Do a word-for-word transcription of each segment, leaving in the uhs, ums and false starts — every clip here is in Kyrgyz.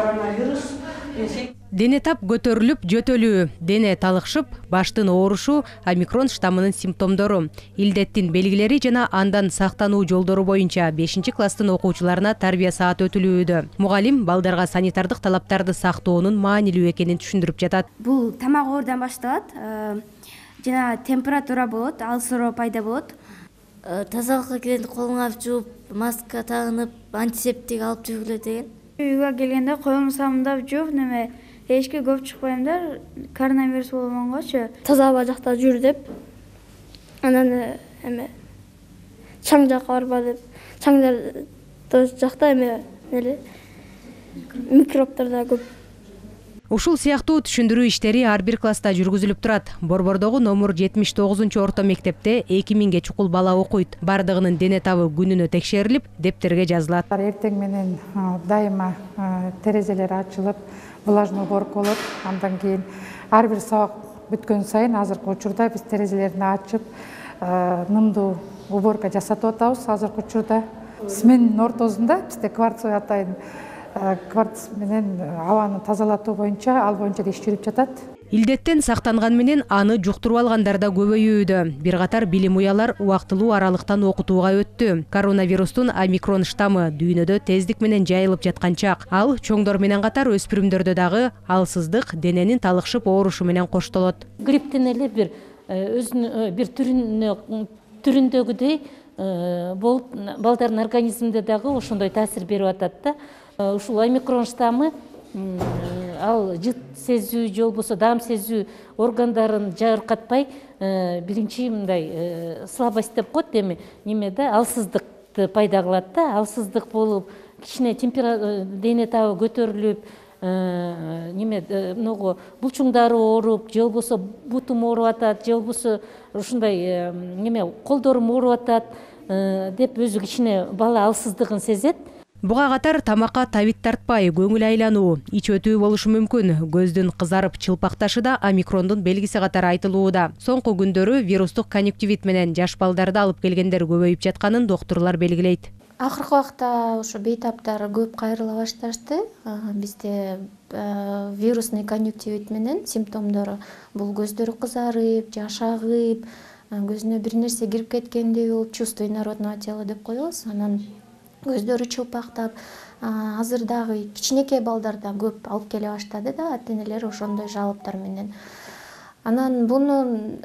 коронавирус. Дене тап көтөрүлүп, жөтөлүү, дене талыкшып, баштын оорушу омикрон штаммынын симптомдору. Илдеттин белгилери жана андан сактануу жолдору боюнча бешинчи класстын окуучуларына тарбия саат өтүлүүдө. Мугалим балдарга санитардык талаптарды сактоонун маанилүү экенин түшүндүрүп жатат. Бул тамак оорудан башталат. Жана температура болот, алсыроо пайда болот. Тазалыкка келгенде колуңду алып жууп, маска тагынып, антисептик алып жүргүлө деген. Үйгө келгенде колумду самындап жууп, неме эшикке көп чыкпаймдар, коронавирус болгонгочу. Таза аба жакта жүр деп. Анан эме чаң жакка барба деп. Чаңдар жакта эме эле микробдор да көп. Ушул сыяктуу түшүндүрүү иштери ар бир класста жүргүзүлүп турат. Борбордогу номер жетимиш тогузунчу орто мектепте эки миңге чукул бала окуйт. Бардыгынын дене табы күнүнө текшерилип, дептерге жазылат. Эртең менен дайыма терезелер ачылып, влажный уборка болот. Андан кийин ар бир сабак бүткөн сайын азыркы учурда биз терезелерин ачып, нымдуу уборка жасатып атабыз. Азыркы учурда сменин ортосунда бизде кварцевый атайын кварц менен абаны тазалатуу боюнча, ал боюнча иш жүрүп жатат. Илдеттен сактанган менен аны жуктуруп алгандар да көбөйүүдө. Бир катар билим уялар убактылуу аралыктан окутууга өттү. Коронавирустун омикрон штаммы дүйнөдө тездик менен жайылып жаткан чак. Ал чоңдор менен катар өспүрүмдөрдө дагы алсыздык, дененин талыкшып оорушу менен коштолот. Грипптен эле бир өзүнүн бир түрүнө түрүндөгүдөй болуп, балдардын организминде дагы ошондой таасир берип атат да. Ушул омикрон штаммы ал жыт сезүү же болбосо даам сезүү органдарын жабыркатпай, биринчи мындай слабость деп коет, эми немеде алсыздыкты пайда кылат да. Алсыздык болуп, кичине температура, дене табы көтөрүлүп, неме могу булчуңдары ооруп, же болбосо бутум ооруп атат, же болбосо ушундай неме колдорум ооруп атат деп өзү кичине бала алсыздыгын сезет. Буга катар тамакка табит тартпай, көңүл айлануу, ич өтүү болушу мүмкүн. Көздүн кызарып чылпакташы да омикрондун белгиси катары айтылууда. Соңку күндөрү вирустук конъюнктивит менен жаш балдарды алып келгендер көбөйүп жатканын доктурлар белгилейт. Акыркы убакта ошо бейтаптар көп кайрыла башташты. Бизде вирусный конъюнктивит менен симптомдору бул көздөрү кызарып, жаш агып, көзүнө бир нерсе кирип кеткендей болуп, чувство инородного тела деп коебуз. Анан көздөрү чылпактап, азыр дагы кичинекей балдарда көп алып келе баштады да, ата-энелер ошондой жалоптор менен. Анан бунун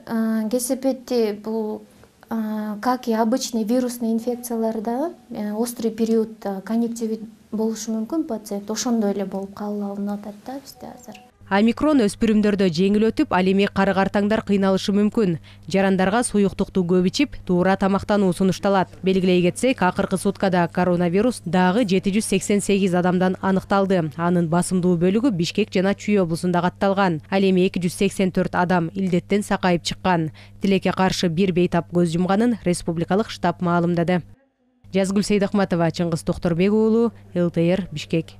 кесепети бул как и обычный вирусный инфекцияларда острый период конъюнктивит болушу мүмкүн пациент, ошондой эле болуп калып алынып атат да бизде азыр. Омикрон өспүрүмдөрдө жеңил өтүп, ал эми кары-картаңдар кыйналышы мүмкүн. Жарандарга суюктукту көп ичип, туура тамактануу сунушталат. Белгилей кетсек, акыркы суткада коронавирус дагы жети жүз сексен сегиз адамдан аныкталды. Анын басымдуу бөлүгү Бишкек жана Чүй облусунда катталган. Ал эми эки жүз сексен төрт адам илдеттен сакайып чыккан. Тилекке каршы бир бейтап көз жумганын республикалык штаб маалымдады. Жазгүл Сейдахматова, Чыңгыз Токторбек уулу, эл тэ эр, Бишкек.